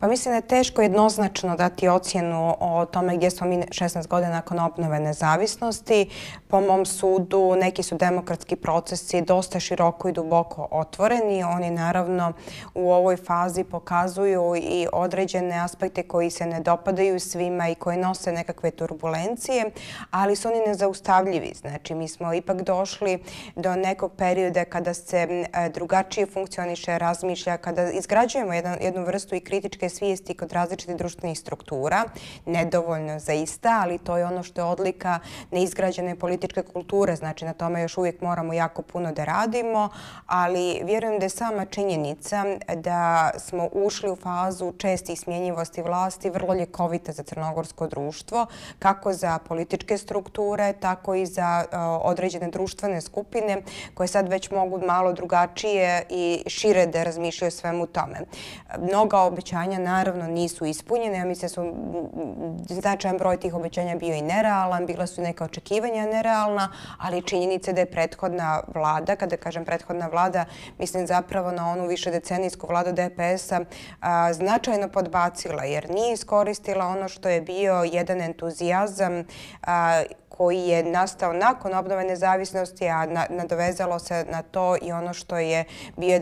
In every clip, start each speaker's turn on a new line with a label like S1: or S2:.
S1: Pa mislim da je teško jednoznačno dati ocjenu o tome gdje smo mi 16 godina nakon obnove nezavisnosti. Po mom sudu neki su demokratski procesi dosta široko i duboko otvoreni. Oni naravno u ovoj fazi pokazuju i određene aspekte koji se ne dopadaju svima i koji nose nekakve turbulencije, ali su oni nezaustavljivi. Znači mi smo ipak došli do nekog perioda kada se drugačije funkcioniše, razmišlja, kada izgrađujemo jednu vrstu i kritičke svijesti kod različitih društvenih struktura. Nedovoljno zaista, ali to je ono što je odlika neizgrađene političke kulture. Znači na tome još uvijek moramo jako puno da radimo, ali vjerujem da je sama činjenica da smo ušli u fazu čestih smjenjivosti vlasti vrlo ljekovita za crnogorsko društvo, kako za političke strukture, tako i za određene društvene skupine koje sad već mogu malo drugačije i šire da razmišljaju o svemu tome. Mnoga obećanja naravno nisu ispunjene. Ja mislim da su značajan broj tih obećanja bio i nerealan, bila su neka očekivanja nerealna, ali činjenica da je prethodna vlada, kada kažem prethodna vlada, mislim zapravo na onu višedecenijsku vladu DPS-a, značajno podbacila jer nije iskoristila ono što je bio jedan entuzijazam koji je nastao nakon obnove nezavisnosti, a nadovezalo se na to i ono što je bio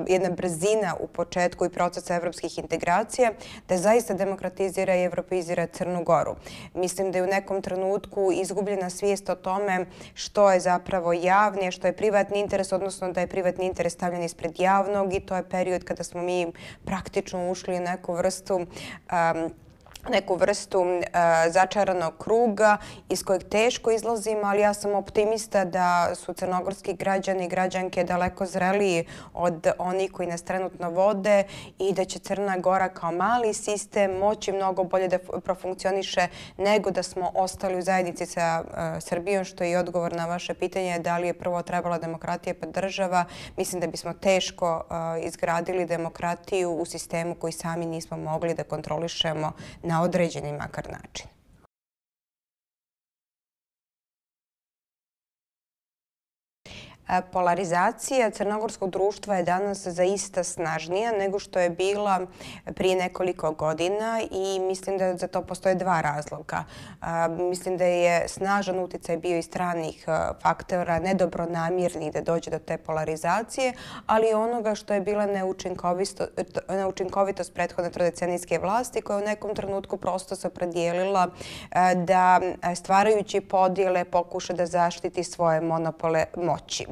S1: jedna brzina u početku i procesa evropskih integracija, da zaista demokratizira i evropeizira Crnu Goru. Mislim da je u nekom trenutku izgubljena svijest o tome što je zapravo javni, a što je privatni interes, odnosno da je privatni interes stavljen ispred javnog, i to je period kada smo mi praktično ušli u neku vrstu začaranog kruga iz kojeg teško izlazimo, ali ja sam optimista da su crnogorski građani i građanke daleko zreliji od onih koji nas trenutno vode i da će Crna Gora kao mali sistem moći mnogo bolje da profunkcioniše nego da smo ostali u zajednici sa Srbijom, što je i odgovor na vaše pitanje da li je prvo trebala demokratija pa država. Mislim da bismo teško izgradili demokratiju u sistemu koji sami nismo mogli da kontrolišemo na određeni makar način. Polarizacija crnogorskog društva je danas zaista snažnija nego što je bila prije nekoliko godina i mislim da za to postoje dva razloga. Mislim da je snažan utjecaj bio i stranih faktora, nedobronamjernih da dođe do te polarizacije, ali i onoga što je bila neučinkovitost prethodne trodecenijske vlasti koja u nekom trenutku prosto se opredijelila da stvarajući podjele pokuša da zaštiti svoje monopole moći.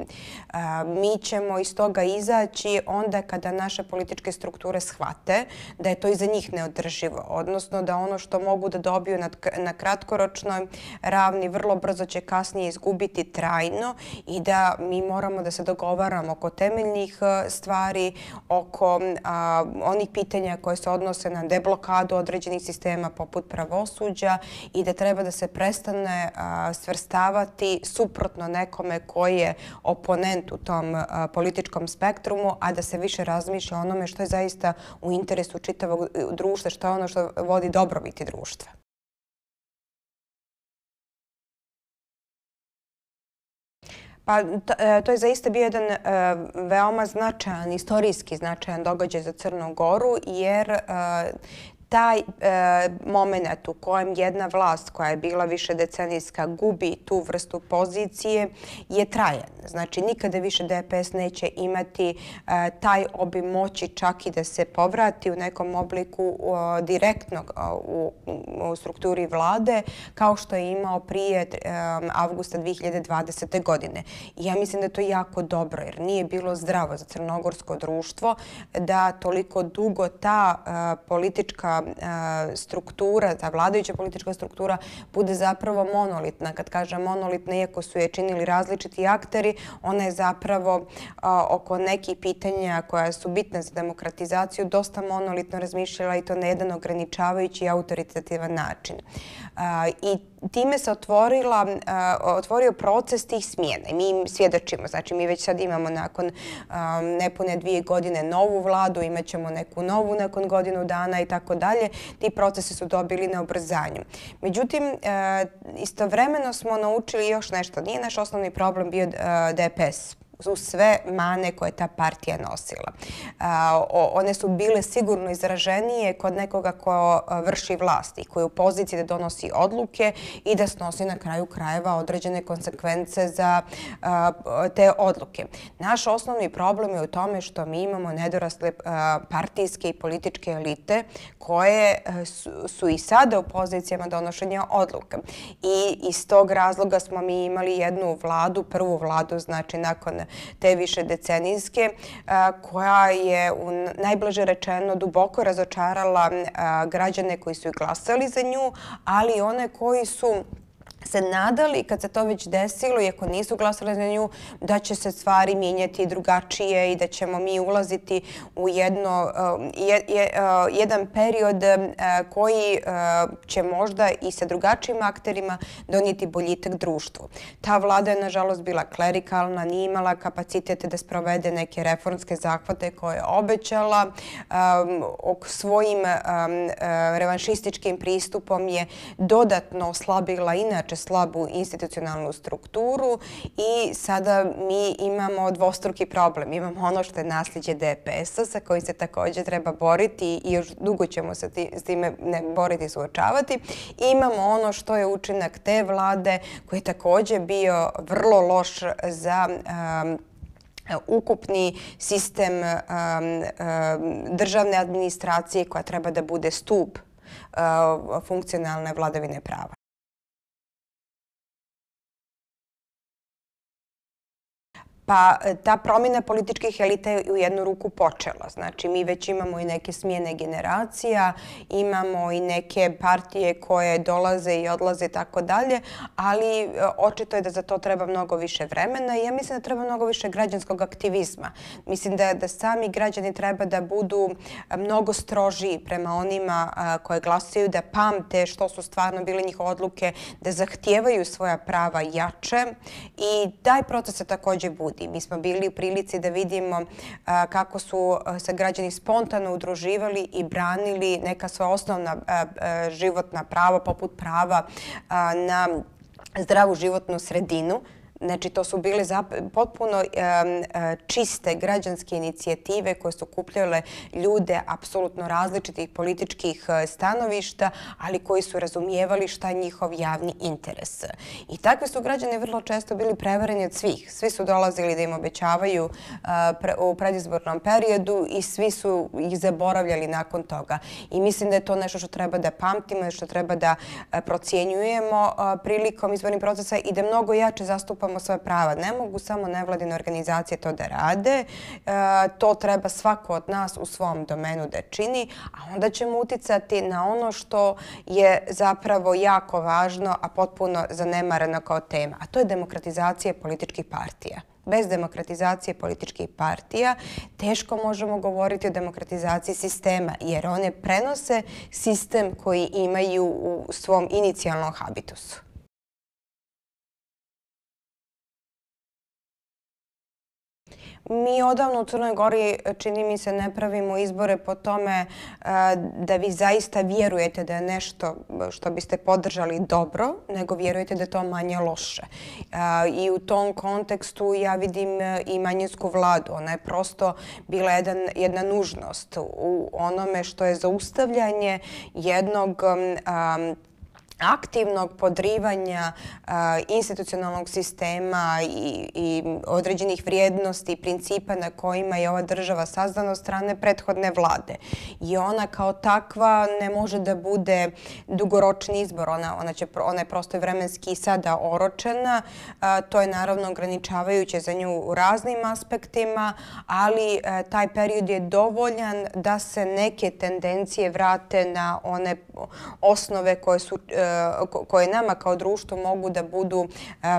S1: Mi ćemo iz toga izaći onda kada naše političke strukture shvate da je to i za njih neodrživo, odnosno da ono što mogu da dobiju na kratkoročnoj ravni vrlo brzo će kasnije izgubiti trajno i da mi moramo da se dogovaramo oko temeljnih stvari, oko onih pitanja koje se odnose na deblokadu određenih sistema poput pravosuđa i da treba da se prestane svrstavati suprotno nekome koji je oponent u tom političkom spektrumu, a da se više razmišlja o onome što je zaista u interesu čitavog društva, što je ono što vodi dobrobiti društva. Pa to je zaista bio jedan veoma značajan, istorijski značajan događaj za Crnu Goru, jer taj moment u kojem jedna vlast koja je bila višedecenijska gubi tu vrstu pozicije je trajan. Znači nikada više DPS neće imati taj obim moći čak i da se povrati u nekom obliku direktno u strukturi vlade kao što je imao prije avgusta 2020. godine. I ja mislim da je to jako dobro jer nije bilo zdravo za crnogorsko društvo da toliko dugo ta politička struktura, ta vladajuća politička struktura bude zapravo monolitna. Kad kažem monolitna, iako su je činili različiti akteri, ona je zapravo oko nekih pitanja koja su bitna za demokratizaciju dosta monolitno razmišljala i to na jedan ograničavajući i autoritativan način. I time se otvorio proces tih smjena. Mi im svjedočimo. Znači, mi već sad imamo nakon nepune 2 godine novu vladu, imat ćemo neku novu nakon godinu dana i tako dalje. Ti procesi su dobili na ubrzanju. Međutim, istovremeno smo naučili još nešto. Nije naš osnovni problem bio DPS. uz sve mane koje ta partija nosila. One su bile sigurno izraženije kod nekoga ko vrši vlast i koji je u poziciji da donosi odluke i da snosi na kraju krajeva određene konsekvence za te odluke. Naš osnovni problem je u tome što mi imamo nedorasle partijske i političke elite koje su i sada u pozicijama donošenja odluka. I iz tog razloga smo mi imali jednu vladu, prvu vladu, znači nakon te višedecenijske, koja je najblaže rečeno duboko razočarala građane koji su i glasali za nju, ali i one koji su se nadali, kad se to već desilo, iako nisu glasali za nju, da će se stvari mijenjati drugačije i da ćemo mi ulaziti u jedan period koji će možda i sa drugačijim akterima donijeti boljitak društvu. Ta vlada je, nažalost, bila klerikalna, nije imala kapacitete da sprovede neke reformske zahvate koje je obećala. Svojim revanšističkim pristupom je dodatno oslabila inače slabu institucionalnu strukturu i sada mi imamo dvostruki problem. Imamo ono što je nasljeđe DPS-a sa kojim se također treba boriti i još dugo ćemo se s time boriti i suočavati. Imamo ono što je učinak te vlade koji je također bio vrlo loš za ukupni sistem državne administracije koja treba da bude stup funkcionalne vladavine prava. Pa ta promjena političkih elita je u jednu ruku počela. Znači, mi već imamo i neke smjene generacija, imamo i neke partije koje dolaze i odlaze i tako dalje, ali očito je da za to treba mnogo više vremena i ja mislim da treba mnogo više građanskog aktivizma. Mislim da sami građani treba da budu mnogo strožiji prema onima koje glasaju, da pamte što su stvarno bile njihove odluke, da zahtijevaju svoja prava jače i taj proces se također budi. Mi smo bili u prilici da vidimo kako su se građani spontano udruživali i branili neka svoja osnovna životna prava, poput prava na zdravu životnu sredinu. Znači, to su bile potpuno čiste građanske inicijative koje su okupljale ljude apsolutno različitih političkih stanovišta, ali koji su razumijevali šta je njihov javni interes. I takvi su građani vrlo često bili prevareni od svih. Svi su dolazili da im obećavaju u predizbornom periodu i svi su ih zaboravljali nakon toga. I mislim da je to nešto što treba da pamtimo, što treba da procjenjujemo prilikom izbornih procesa i da mnogo jače zastupamo svoje prava. Ne mogu samo nevladine organizacije to da rade. To treba svako od nas u svom domenu da čini, a onda ćemo uticati na ono što je zapravo jako važno, a potpuno zanemareno kao tema, a to je demokratizacija političkih partija. Bez demokratizacije političkih partija teško možemo govoriti o demokratizaciji sistema, jer one prenose sistem koji imaju u svom inicijalnom habitusu. Mi odavno u Crnoj Gori, čini mi se, ne pravimo izbore po tome da vi zaista vjerujete da je nešto što biste podržali dobro, nego vjerujete da je to manje loše. I u tom kontekstu ja vidim i manjinsku vladu. Ona je prosto bila jedna nužnost u onome što je zaustavljanje jednog aktivnog podrivanja institucionalnog sistema i određenih vrijednosti i principa na kojima je ova država sazdana od strane prethodne vlade. I ona kao takva ne može da bude dugoročni izbor. Ona je prosto vremenski sada oročena. To je naravno ograničavajuće za nju u raznim aspektima, ali taj period je dovoljan da se neke tendencije vrate na one osnove koje nama kao društvo mogu da budu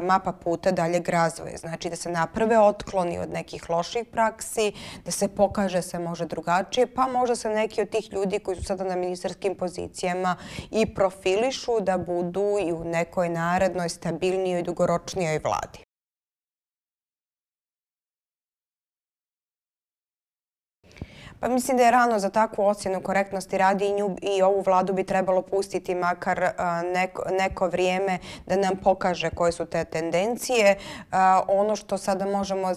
S1: mapa puta daljeg razvoja. Znači da se naprave otkloni od nekih loših praksi, da se pokaže da se može drugačije, pa možda se neki od tih ljudi koji su sada na ministarskim pozicijama i profilišu da budu i u nekoj narednoj stabilnijoj i dugoročnijoj vladi. Pa mislim da je rano za takvu ocjenu korektnosti radi i ovu vladu bi trebalo pustiti makar neko vrijeme da nam pokaže koje su te tendencije. Ono što sada možemo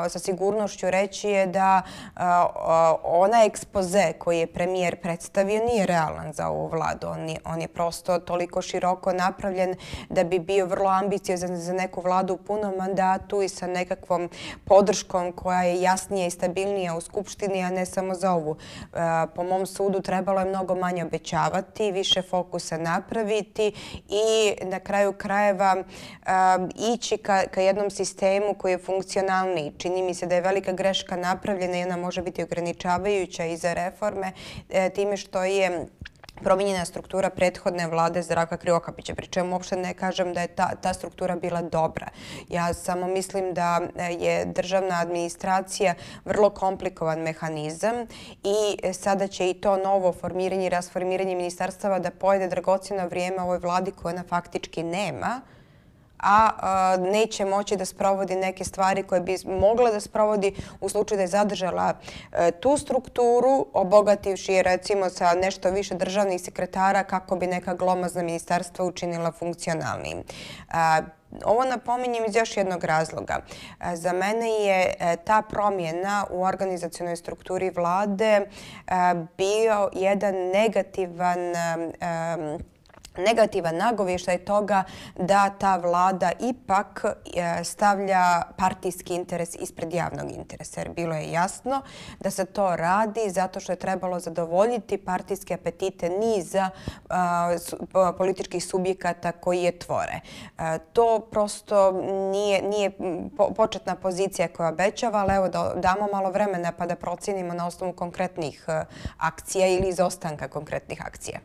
S1: sa sigurnošću reći je da onaj ekspoze koji je premijer predstavio nije realan za ovu vladu. On je prosto toliko široko napravljen da bi bio vrlo ambiciozan za neku vladu u punom mandatu i sa nekakvom podrškom koja je jasnija i stabilnija u Skupštini, a ne samo za ovu. Po mom sudu trebalo je mnogo manje obećavati, više fokusa napraviti i na kraju krajeva ići ka jednom sistemu koji je funkcionalniji. Čini mi se da je velika greška napravljena i ona može biti ograničavajuća i za reforme time što je promijenjena struktura prethodne vlade Zdravka Krivokapića, pri čemu uopšte ne kažem da je ta struktura bila dobra. Ja samo mislim da je državna administracija vrlo komplikovan mehanizam i sada će i to novo formiranje i rasformiranje ministarstava da pojede dragocjeno vrijeme ovoj vladi koje ona faktički nema, a neće moći da sprovodi neke stvari koje bi mogla da sprovodi u slučaju da je zadržala tu strukturu, obogativši je recimo sa nešto više državnih sekretara kako bi neka glomazna ministarstva učinila funkcionalnijim. Ovo napominjem iz još jednog razloga. Za mene je ta promjena u organizacionoj strukturi vlade bio jedan negativan nagovještaj toga da ta vlada ipak stavlja partijski interes ispred javnog interesa. Jer bilo je jasno da se to radi zato što je trebalo zadovoljiti partijske apetite niza političkih subjekata koji je tvore. To prosto nije početna pozicija koja obećava, ali evo da damo malo vremena pa da procijenimo na osnovu konkretnih akcija ili izostanka konkretnih akcija.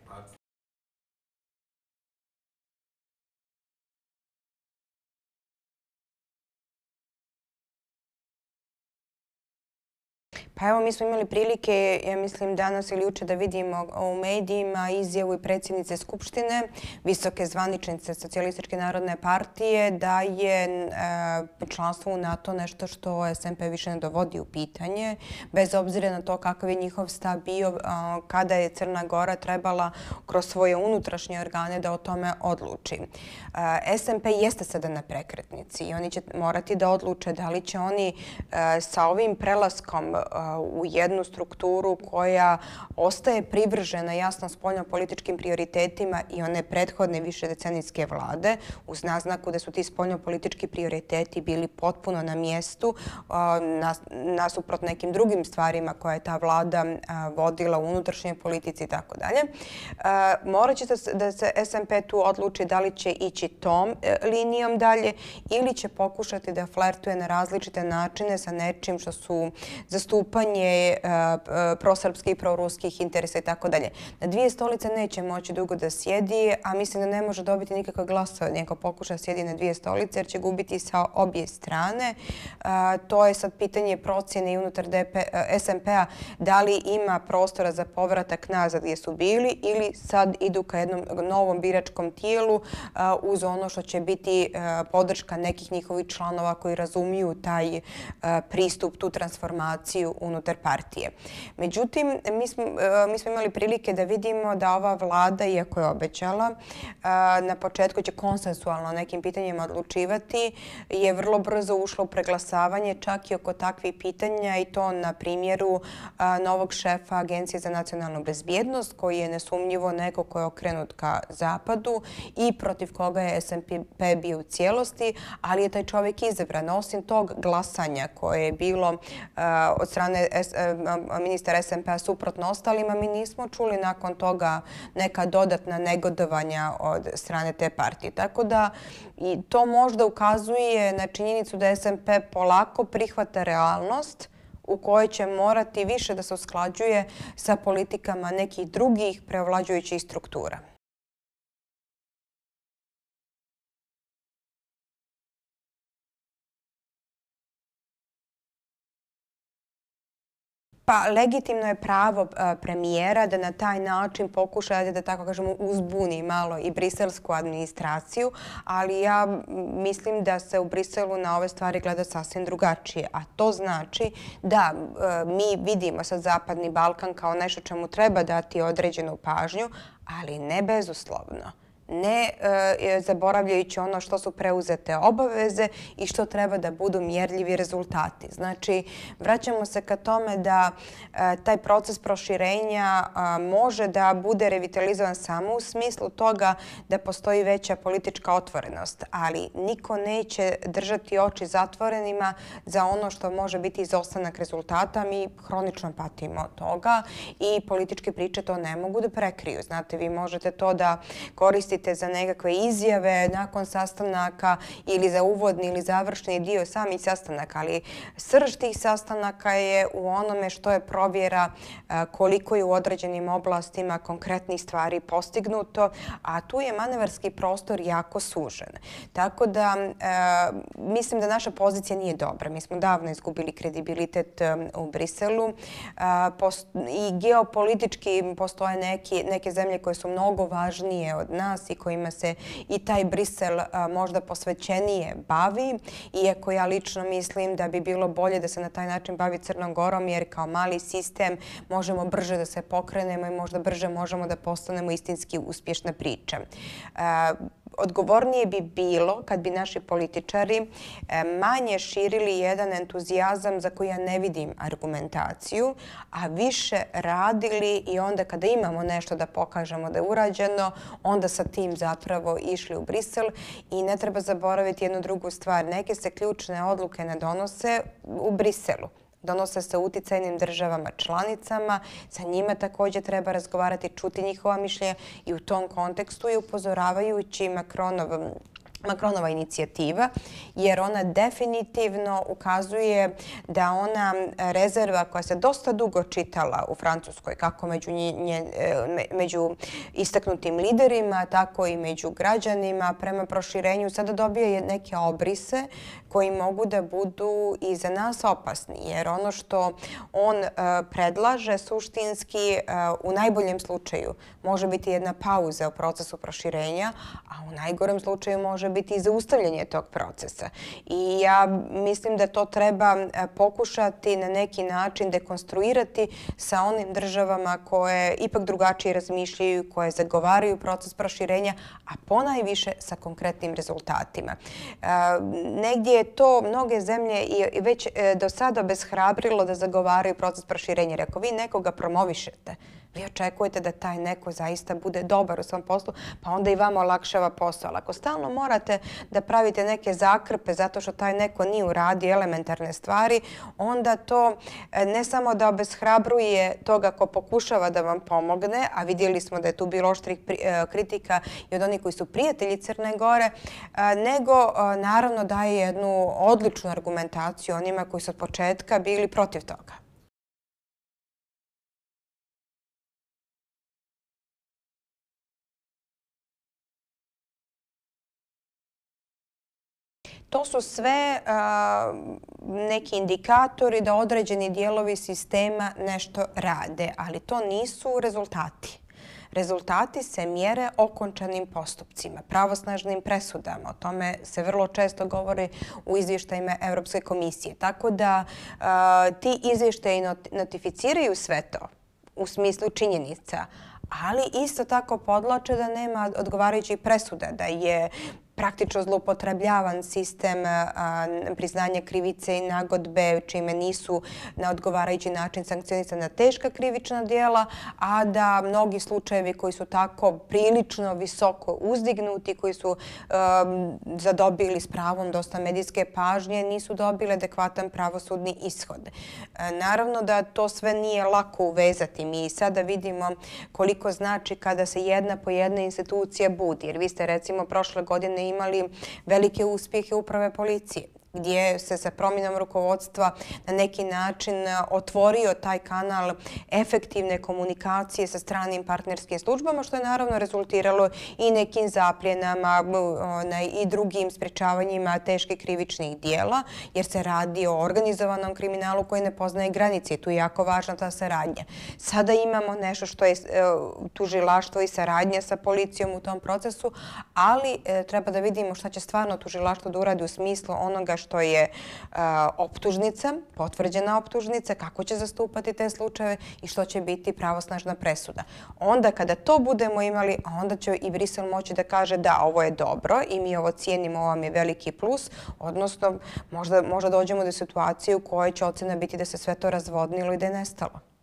S1: Pa evo, mi smo imali prilike, ja mislim danas ili juče da vidimo u medijima izjavu i predsjednice Skupštine, visoke zvaničnice Socijalističke narodne partije, da je članstvo u NATO nešto što SMP više ne dovodi u pitanje, bez obzira na to kakav je njihov stav bio kada je Crna Gora trebala kroz svoje unutrašnje organe da o tome odluči. SMP jeste sada na prekretnici i oni će morati da odluče da li će oni sa ovim prelaskom u jednu strukturu koja ostaje privržena jasno spoljnopolitičkim prioritetima i one prethodne višedecenijske vlade, uz naznaku da su ti spoljnopolitički prioriteti bili potpuno na mjestu nasuprot nekim drugim stvarima koje je ta vlada vodila u unutrašnjoj politici i tako dalje. Morat će da se SMP tu odluči da li će ići tom linijom dalje ili će pokušati da flertuje na različite načine sa nečim što su zastupanje prosrpskih i proruskih interesa i tako dalje. Na dvije stolice neće moći dugo da sjedi, a mislim da ne može dobiti nikakve glasove ako pokuša sjedi na dvije stolice jer će gubiti sa obje strane. To je sad pitanje procjene i unutar SMP-a da li ima prostora za povratak nazad gdje su bili ili sad idu ka jednom novom biračkom tijelu uz ono što će biti podrška nekih njihovih članova koji razumiju taj pristup, tu transformaciju unutar partije. Međutim, mi smo imali prilike da vidimo da ova vlada, iako je obećala, na početku će konsensualno o nekim pitanjima odlučivati, je vrlo brzo ušla u preglasavanje čak i oko takvih pitanja i to na primjeru novog šefa Agencije za nacionalnu bezbjednost koji je nesumnjivo neko ko je okrenut ka zapadu i protiv koga je SMP bio u cijelosti, ali je taj čovjek izabran. Osim tog glasanja koje je bilo od strane ministra SMP-a suprotno ostalima, mi nismo čuli nakon toga neka dodatna negodovanja od strane te partije. Tako da i to možda ukazuje na činjenicu da SMP polako prihvata realnost u kojoj će morati više da se usklađuje sa politikama nekih drugih preovlađujućih struktura. Pa legitimno je pravo premijera da na taj način pokuša da tako kažemo uzbuni malo i briselsku administraciju, ali ja mislim da se u Briselu na ove stvari gleda sasvim drugačije. A to znači da mi vidimo sad Zapadni Balkan kao nešto čemu treba dati određenu pažnju, ali ne bezuslovno. Ne zaboravljajući ono što su preuzete obaveze i što treba da budu mjerljivi rezultati. Znači, vraćamo se ka tome da taj proces proširenja može da bude revitalizovan samo u smislu toga da postoji veća politička otvorenost, ali niko neće držati oči zatvorenima za ono što može biti izostanak rezultata. Mi hronično patimo od toga i političke priče to ne mogu da prekriju. Znate, vi možete to da koristite za nekakve izjave nakon sastanaka ili za uvodni ili završni dio samih sastanaka, ali srž tih sastanaka je u onome što je provjera koliko je u određenim oblastima konkretnih stvari postignuto, a tu je manevarski prostor jako sužen. Tako da mislim da naša pozicija nije dobra. Mi smo davno izgubili kredibilitet u Briselu i geopolitički postoje neke zemlje koje su mnogo važnije od nas i kojima se i taj Brisel možda posvećenije bavi, iako ja lično mislim da bi bilo bolje da se na taj način bavi Crnom Gorom, jer kao mali sistem možemo brže da se pokrenemo i možda brže možemo da postanemo istinski uspješna priča. Odgovornije bi bilo kad bi naši političari manje širili jedan entuzijazam za koji ja ne vidim argumentaciju, a više radili i onda kada imamo nešto da pokažemo da je urađeno, onda sa tim zapravo išli u Brisel. I ne treba zaboraviti jednu drugu stvar. Neke se ključne odluke ne donose u Briselu. Donose se u uticajnim državama članicama, sa njima također treba razgovarati, čuti njihova mišljenja i u tom kontekstu je upozoravajući Macronova inicijativa, jer ona definitivno ukazuje da ona rezerva koja se dosta dugo čitala u Francuskoj, kako među istaknutim liderima, tako i među građanima prema proširenju, sada dobije neke obrise koji mogu da budu i za nas opasni, jer ono što on predlaže suštinski u najboljem slučaju može biti jedna pauza u procesu proširenja, a u najgorem slučaju može biti i zaustavljanje tog procesa. I ja mislim da to treba pokušati na neki način dekonstruirati sa onim državama koje ipak drugačije razmišljaju, koje zagovaraju proces proširenja, a ponajviše sa konkretnim rezultatima. Negdje je to mnoge zemlje i već do sada obeshrabrilo da zagovaraju proces proširenja. Jer ako vi nekoga promovišete, vi očekujete da taj neko zaista bude dobar u svom poslu, pa onda i vama olakšava posao. Ali ako stalno morate da pravite neke zakrpe zato što taj neko nije uradio elementarne stvari, onda to ne samo da obeshrabruje toga ko pokušava da vam pomogne, a vidjeli smo da je tu bilo oštrih kritika i od onih koji su prijatelji Crne Gore, nego naravno daje jednu odličnu argumentaciju onima koji su od početka bili protiv toga. To su sve neki indikatori da određeni dijelovi sistema nešto rade, ali to nisu rezultati. Rezultati se mjere okončanim postupcima, pravosnažnim presudama. O tome se vrlo često govori u izvještajima Europske komisije. Tako da ti izvještaji notificiraju sve to u smislu činjenica, ali isto tako podlače da nema odgovarajućih presuda, da je praktično zloupotrebljavan sistem priznanja krivice i nagodbe, čime nisu na odgovarajući način sankcionisana teška krivična djela, a da mnogi slučajevi koji su tako prilično visoko uzdignuti, koji su zadobili s pravom dosta medijske pažnje, nisu dobili adekvatan pravosudni ishod. Naravno da to sve nije lako uvezati. Mi sada vidimo koliko znači kada se jedna po jedna institucija budi. Jer vi ste recimo prošle godine imali velike uspjehe uprave policije. gdje se sa promjenom rukovodstva na neki način otvorio taj kanal efektivne komunikacije sa stranim partnerskim službama, što je naravno rezultiralo i nekim zapljenama i drugim sprečavanjima teških krivičnih dijela, jer se radi o organizovanom kriminalu koji ne poznaje granice i tu je jako važna ta saradnja. Sada imamo nešto što je tužilaštvo i saradnja sa policijom u tom procesu, ali treba da vidimo šta će stvarno tužilaštvo da uradi u smislu onoga što je optužnica, potvrđena optužnica, kako će zastupati te slučajeve i što će biti pravosnažna presuda. Onda kada to budemo imali, onda će i Brisel moći da kaže da, ovo je dobro i mi ovo cijenimo, ovo vam je veliki plus, odnosno možda dođemo do situacije u kojoj će ocena biti da se sve to razvodnilo i da je nestalo.